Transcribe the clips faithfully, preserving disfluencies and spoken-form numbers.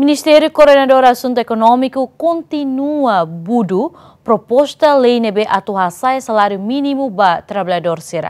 Ministériu Koordenadór Asuntu Ekonómiku kontinua budu proposta lei ne'ebé atu hasa'e saláriu mínimu ba traballadór sira.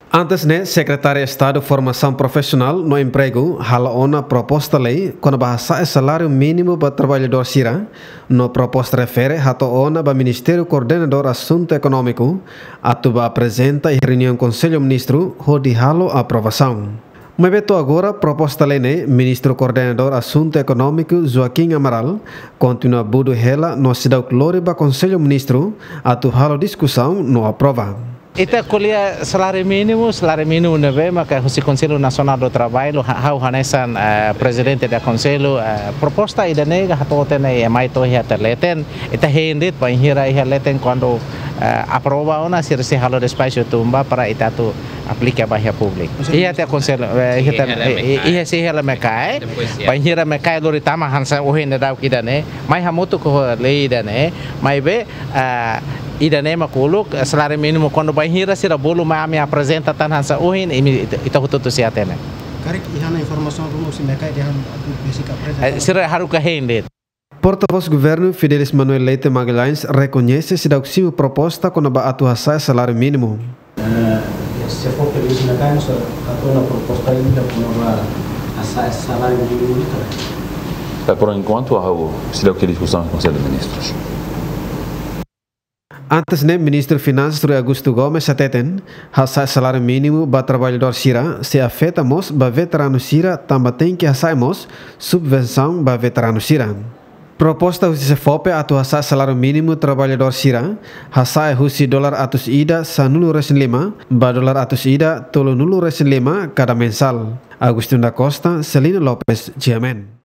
Antes ne'e, Sekretáriu Estadu Formasaun Profisionál no Empregu hala'o ona proposta lei kona-ba hasa'e saláriu mínimu ba traballadór sira, no proposta refere hato'o ona ba Ministériu Koordenadór Asuntu Ekonómiku atu bá aprezenta iha reuniaun Konsellu Ministru hodi halo aprovasaun. Maibé to'o agora, proposta lei ne'e Ministru Koordenadór Asuntu Ekonómiku Joaquim Amaral kontinua budu hela no seidauk lori ba Konsellu Ministru atu halo diskusaun no aprova. Ita ko'alia saláriu mínimu, saláriu mínimu ne'ebé maka husi Konsellu Nasionál do Traballu, ha-, ha'u hanesan, eh, prezidente do konsellu, eh, proposta ida-ne'e hato'o tiha ona, mai to'o iha tiha leten, ita hein de'it bainhira iha leten kuandu, eh, aprova ona, sira sei halo despaxu tun ba para ita atu aplika ba iha públiku. Konsellu Iha tiha Ministru. Konsellu, eh, iha Sei tiha, hela eh, mekai. Iha sei hela mekai. Depois, ya. Bainhira mekai lori tama hanesan ohin daudaun ida-ne'e, mai hamutuk ho lei ida-ne'e, maibé, ah, ida-ne'e mak uluk, eh, saláriu mínimu kuandu bainhira sira bolu mai ami aprezenta tan hanesan ohin, imi ita, ita hotu-hotu sei hatene. Karik iha ona informasaun ruma husi mekai dehan atu besik aprezenta. Eh, sira haruka hein de'it. Portavós Governu Fidelis Manuel Leite Magalhães rekoñese seidauk simu proposta kona-ba atu hasa'e saláriu mínimu. Eh, se for pelos mecanismos, hato'o ona proposta ida kona-ba hasa'e saláriu mínimu ne'e ka lae? Eh, por enquanto, ha'u seidauk iha diskusaun ho Konsellu Ministrus. Antes ne'e, Ministru Finansas Rui Augusto Gomes hateten, hasa'e saláriu mínimu ba traballadór sira sei afeta mós ba veteranu sira tanba tenke hasa'e mós subvensaun ba veteranu sira. Proposta husi SEFOPE atu hasa'e saláriu mínimu traballadór sira, hasa'e husi dolar atus ida sanulu-resin-lima ba dolar atus ida tolunulu-resin-lima kada mensál. Agostinho da Costa, Celino Lopes, G M N.